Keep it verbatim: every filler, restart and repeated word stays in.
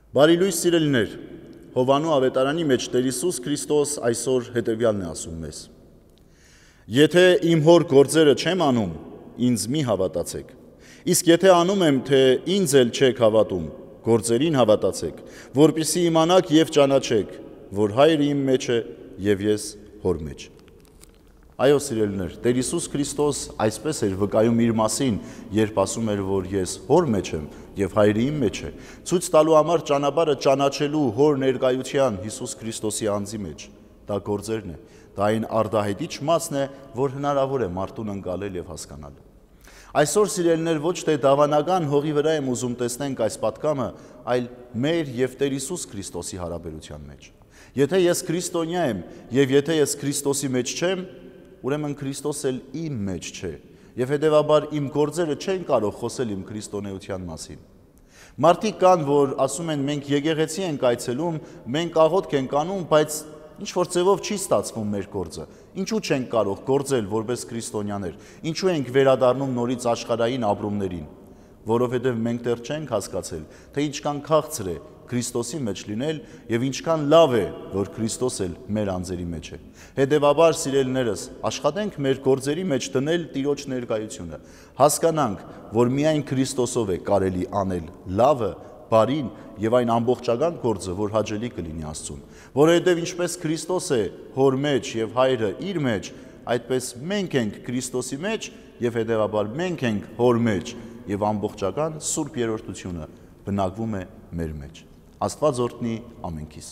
Բարի լույս սիրելիներ, Հովանու ավետարանի մեջ Տեր Հիսուս Քրիստոս այսօր հետևյալն է ասում մեզ. Եթե իմ հոր գործերը չեմ անում, ինձ մի հավատացեք, իսկ եթե անում եմ, թե ինձ էլ չեք հավատում, գործերին հավատացեք, որպեսզի իմանաք և ճանաչեք, որ Հայրը իմ մեջ է և ես հոր մեջ։ Այո, սիրելիներ, Տեր Հիսուս Քրիստոս այսպես էր վկայում իր մասին, երբ ասում էր, որ ես հոր մեջ եմ և Հայրը իմ մեջ է, ցույց տալու համար ճանապարհը ճանաչելու հոր ներկայության Հիսուս Քրիստոսի անձի մեջ, դա գործերն է, դա այն արդահայտիչ մասն է, որ հնարավոր է մարդուն ընկալել և հասկանալ։ Այսօր, սիրելիներ, ոչ թե դավանական հողի վրա եմ ուզում տեսնենք այս պատգամը, այլ մեր և Տեր Հիսուս Քրիստոսի հարաբերության մեջ։ Եթե ես քրիստոնյա եմ և եթե ես Քրիստոսի մեջ չեմ, ուրեմն Քրիստոս էլ իմ մեջ չէ, և հետևաբար իմ գործերը չեն կարող խոսել իմ քրիստոնեության մասին։ Մարդիկ կան, որ ասում են, մենք եկեղեցի ենք այցելում, մենք աղոթք ենք անում, բայց ինչ-որ ձևով չի ստացվում մեր գործը։ Ինչու չենք կարող գործել որպես քրիստոնյաներ, ինչու ենք վերադառնում նորից աշխարհային ապրումներին, որովհետև մենք դեռ չենք հասկացել, թե ինչքան քաղցր է Քրիստոսի մեջ լինել և ինչքան լավ է, որ Քրիստոս էլ մեր անձերի մեջ է։ Հետևաբար, սիրելիներս, աշխատենք մեր գործերի մեջ դնել Տիրոջ ներկայությունը, հասկանանք, որ միայն Քրիստոսով է կարելի անել լավը, բարին և այն ամբողջական գործը, որ հաճելի կլինի Աստծուն, որովհետև ինչպես Քրիստոս է հոր մեջ և Հայրը իր մեջ, այդպես մենք ենք Քրիստոսի մեջ և հետևաբար մենք ենք հոր մեջ և ամբողջական Սուրբ Երրորդությունը բնակվում է մեր մեջ։ Աստված օրհնի ամենքիս։